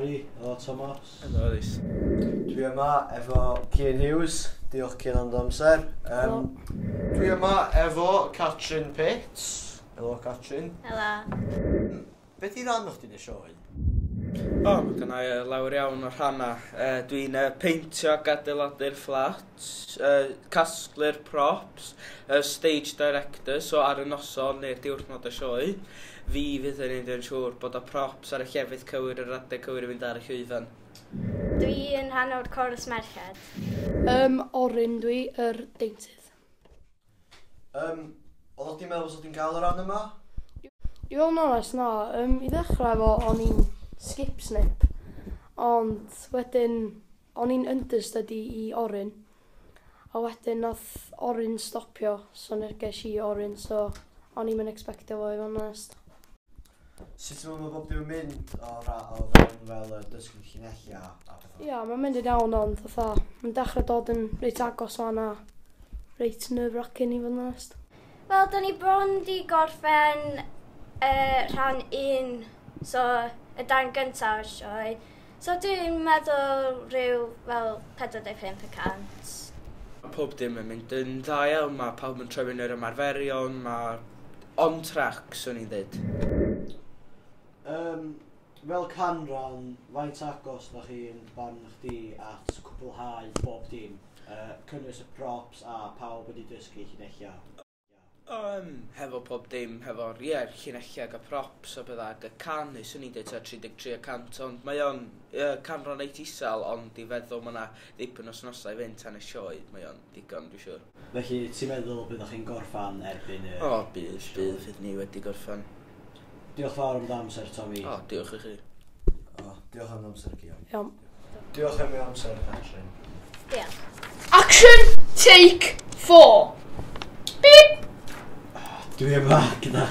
Harry, helo Thomas. Helo Rhys. Dwi yma efo Cian Hughes, diolch Cian am dy amser. Dwi yma efo Catrin Pitts. Helo Catrin. Helo. Be di ran o'ch di'n y sioe? O, mae gynna i lawer iawn o rhannau. Dwi'n peintio ac adeiladu'r fflat, casglu'r props, stage director, so ar y noson neu'r diwrnod y sioe, fi fydd yn neud yn siŵr bod y props ar y llefydd cywir yr adeg cywir i fynd ar y llwyfan. Dwi yn rhan o'r chorus merched. Orin dwi, yr deintydd. Oeddech chdi'n meddwl bod chdi'n cael y rhan yma? I fod yn onest, na. I ddechrau efo, o'n i'n skip snip. Ond wedyn, o'n i'n understudy i Orin. A wedyn nath Orin stopio, so ges i Orin, so o'n i'm yn expectio fo, i fod yn onest. Sut mae bob dim yn mynd o fewn fel y dysgu llinellau a pethau? Ia, mae'n mynd yn iawn, ond fatha, mae'n dechrau dod yn reit agos o'n a reit nerve-wracking i fod yn onest. Wel, da ni bron di gorffen rhan 1, so y darn gyntaf o'r sioe. So dwi'n meddwl rhyw fel 45%. Pob dim yn mynd yn dda iawn, mae pawb yn troi fyny yr ymarferion, mae on track, swn i'n dweud. Fel canran, faint agos na chi'n barn chdi at cwblhau bob dim? Cynnwys y props a pawb wedi dysgu llinellau? Hefo pob dim, hefo'r ie, llinellau ac y props a bydda ac y canu, swn i'n dweud tua 33%, ond mae o'n canran reit isel, ond i feddwl mae yna ddipyn o wythnosau i fynd tan y sioe, mae o'n digon, dwi'n siŵr. Felly, ti'n meddwl byddwch chi'n gorffan erbyn y... O, bydd ni wedi gorffan. Diolch fawr am dy amser, Tommy. O, diolch i chi. O, diolch am dy amser, Cian. Iawn. Diolch am ei amser, Catrin. Diolch. Action! Take 4! Beep! Dwi yma gyda...